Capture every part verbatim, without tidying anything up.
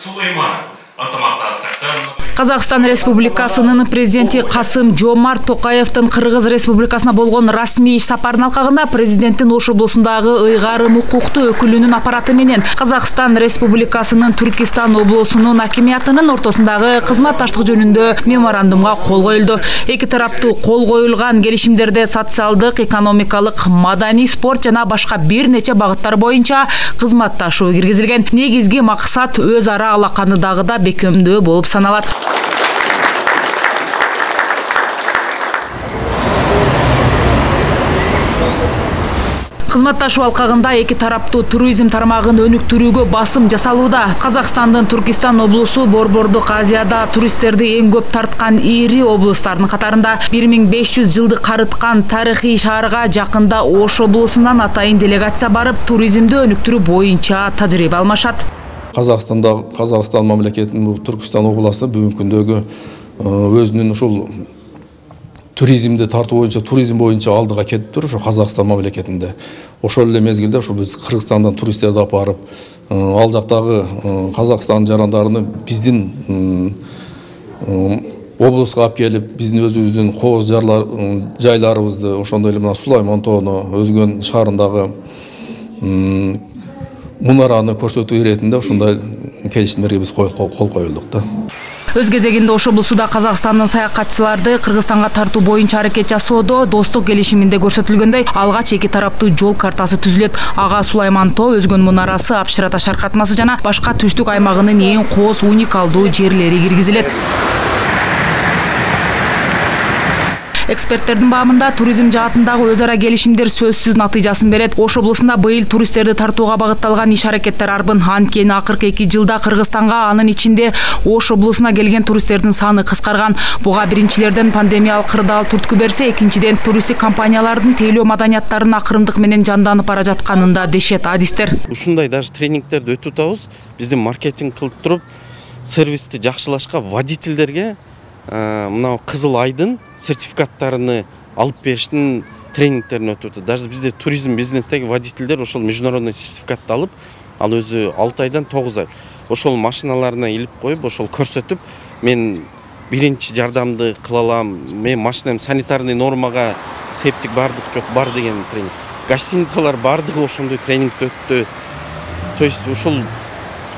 Сулайманов ынтымактастыктын Казакстан Республикасынын президенти Касым-Жомарт Токаевдин Кыргыз Республикасына болгон расмий иш сапарынын алкагында президенттин Ош облусундагы ыйгарым укуктуу өкүлүнүн аппараты менен Казакстан Республикасынын Түркистан облусунун акимиятынын ортосундагы кызматташтык жөнүндө меморандумга кол коюлду. Эки тараптуу кол коюлган келишимдерде социалдык, экономикалык, маданий, спорт жана башка бир нече багыттар боюнча кызматташуу киргизилген. Негизги максат өз ара алаканы дагы да бекемдөө болуп саналат. Кызматташуу алкагында эки тараптуу туризм тармагын өнүктүрүүгө басым жасалууда. Казакстандын Түркистан облусу Борбордук Азияда туристтерди эң көп тарткан ири облустардын катарында. бир миң беш жүз жылды карыткан тарыхый шаарга жакында Ош облусунан атайын делегация барып, туризмди өнүктүрүү боюнча тажрыйба алмашат. Казакстанда Казакстан мамлекетинин Түркистан областы бүгүнкү күндөгү өзүнүн ушул туризмди тартуу боюнча, туризм боюнча алдыга кетип тур, ошо Казакстан мамлекетинде. Ошол эле мезгилде ошо биз Кыргызстандан туристтерди алып барып, ал жактагы Казакстан жарандарын биздин облуска алып келип, биздин өзүбүздүн кооз жайларыбызды, ошондой эле мына Сулайман тоону, Өзгөн шаарындагы мунараны көрсөтүү иретинде ошондой келишимдерге биз кол коюлдук да. Өз кезегинде Ош облусуда Казакстандын саякатчыларды Кыргызстанга тартуу боюнча аракет жасоодо достук келишиминде көрсөтүлгөндөй алгач эки тараптуу жол картасы түзүлөт. Ага Сулайман тоо, Өзгөн мунарасы, Апшыра таш аркатмасы жана башка түштүк аймагынын эң кооз уникалдуу жерлери киргизилет. Эксперттердин баамында туризм жаатындагы өз ара келишимдер сөзсүз натыйжасын берет. Ош облусунда быйыл туристтерди тартууга багытталган иш-аракеттер арбын. Анткени акыркы эки жылда Кыргызстанга, анын ичинде Ош облусуна келген туристтердин саны кыскарган. Буга биринчилерден пандемиялык кырдаал түрткү берсе, экинчиден туристтик компаниялардын тейлөө маданияттарынын акырындык менен жанданып бара жатканында дешет адистер. Ушундай даже тренингтерди өтүп атабыз. Биздин маркетинг кылып туруп, сервисти жакшылашка водительдерге мына Кызыл Айдын сертификаттарыны алып бериштин тренингтерин өтүп атат. Даже бизде туризм бизнестеги водительдер ошол международный сертификатты алып, ал өзү алты айдан тогуз ай ошол машиналарына илип коюп, ошол көрсөтүп, мен биринчи жардамды кыла алам, мен машинам санитарный нормага септик бардык жок бар деген тренинг. Гостиницалар бардыгы ошондой тренингди өттү. То есть ушул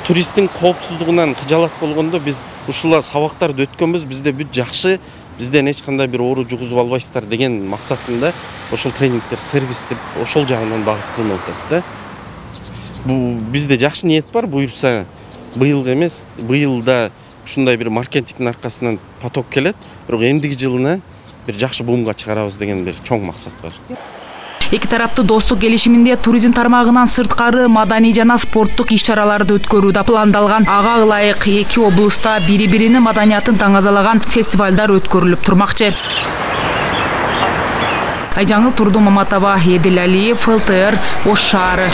туристтин коопсуздугунан кыжалат болгондо биз ушул сабактарды өткөнбүз, бизде бүт жакшы, бизден эч кандай бир оору жугузуп албайсыздар деген максатында ошол тренингтер сервистип ошол жагынан багыт кылынып атат да. Бул бизде жакшы ниет бар, буюрса быйыл эмес, быйылда ушундай бир маркетингдин аркасынан поток келет, бирок эмдиги жылына бир жакшы бумга чыгарабыз деген бир чоң максат бар. Эки тараптуу достук келишиминде туризм тармагынан сырткары маданий жана спорттук иш-чараларды өткөрүү да пландалган. Ага ылайык эки облуста бири-биринин маданиятын таңазалаган фестивалдар өткөрүлүп турмакчы. Айжаңыл Турду Маматова, Едил Алиев, эл тэ эр, Ош шаары.